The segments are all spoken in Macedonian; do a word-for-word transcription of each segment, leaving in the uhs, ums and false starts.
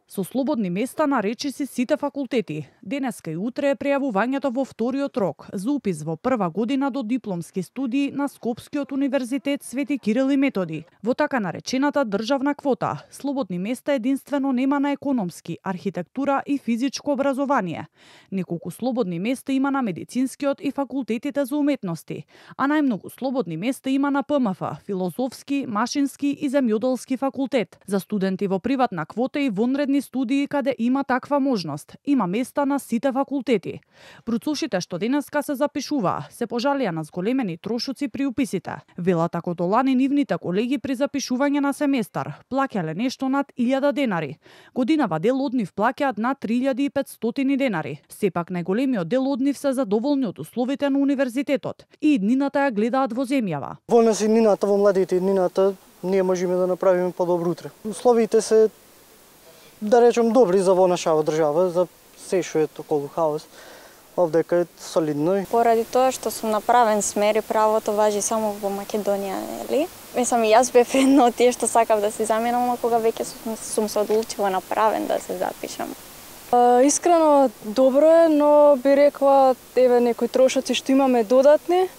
Со слободни места на речиси сите факултети. Денеска и утре е пријавувањето во вториот рок за упис во прва година до дипломски студии на Скопскиот универзитет Свети Кирил и Методи. Во така наречената државна квота, слободни места единствено нема на економски, архитектура и физичко образование. Неколку слободни места има на медицинскиот и факултетите за уметности, а најмногу слободни места има на П М Ф, филозофски, машински и земјоделски факултет. За студенти во приватна квота и вонредни студии каде има таква можност. Има места на сите факултети. Бруцушите што денеска се запишуваа се пожалија на зголемени трошоци при уписите. Велат како до лани нивните колеги при запишување на семестар плаќале нешто над илјада денари. Годинава дел од нив плаќаат над три илјади и петстотини денари. Сепак најголемиот дел од нив се задоволни од условите на универзитетот и иднината ја гледаат во земјава. Во нас иднината, во младите иднината, ние можеме да направиме подобро утре. Условите се, да речем, добри за во нашава држава, за се што е околу хаос. Овдека е солидно. Поради тоа што сум направен смер и правото важи само во Македонија, нели? Мислам, и јас бев едно од тие што сакав да се заменам, но кога веќе сум, сум се одлучила направен да се запишам. Искрено добро е, но би рекла еве некои трошоци што имаме додатни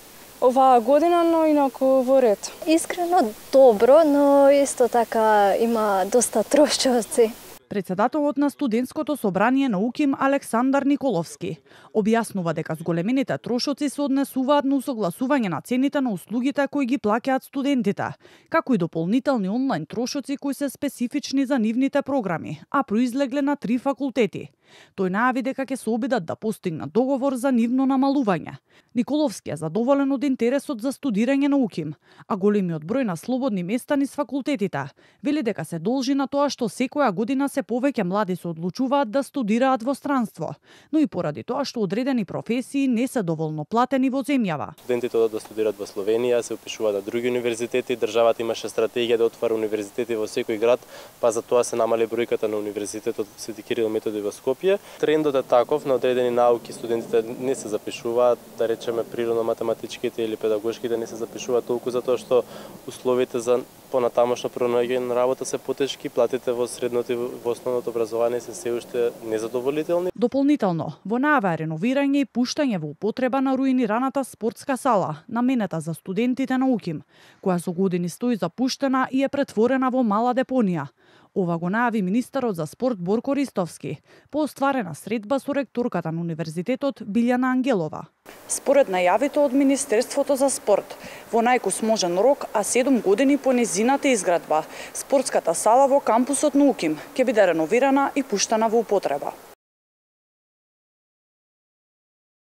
оваа година, но инаку во ред. Искрено добро, но исто така има доста трошоци. Председателот на студентското собрание на УКИМ Александар Николовски објаснува дека зголемените трошоци се однесуваат на усогласување на цените на услугите кои ги плаќаат студентите, како и дополнителни онлайн трошоци кои се специфични за нивните програми, а произлегле на три факултети. Тој најави дека ќе се обидат да постигнат договор за нивно намалување. Николовски е задоволен од интересот за студирање на УКИМ, а големиот број на слободни места низ факултетите вели дека се должи на тоа што секоја година се повеќе млади се одлучуваат да студираат во странство, но и поради тоа што одредени професии не се доволно платени во земјава. Студентите одат да студираат во Словенија, се упишуваат на други универзитети, државата имаше стратегија да отвара универзитети во секој град, па за тоа се намали бројката на универзитетот Свети Кирил и Методи во Скопје. Трендот е таков, на одредени науки студентите не се запишуваат, да речеме природно-математичките или педагошките не се запишуваат толку затоа што условите за понатамошно пронаѓање на работа се потешки, платите во средното и во основното образование се се уште незадоволителни. Дополнително, во најава е реновирање и пуштање во употреба на руинираната спортска сала, наменета за студентите на УКИМ, која со години стои запуштена и е претворена во мала депонија. Ова го најави министерот за спорт Борко Ристовски по остварена средба со ректорката на универзитетот Билјана Ангелова. Според најавите од Министерството за спорт, во најкосможен рок, а седум години по незината изградба, спортската сала во кампусот на УКИМ ќе биде реновирана и пуштена во употреба.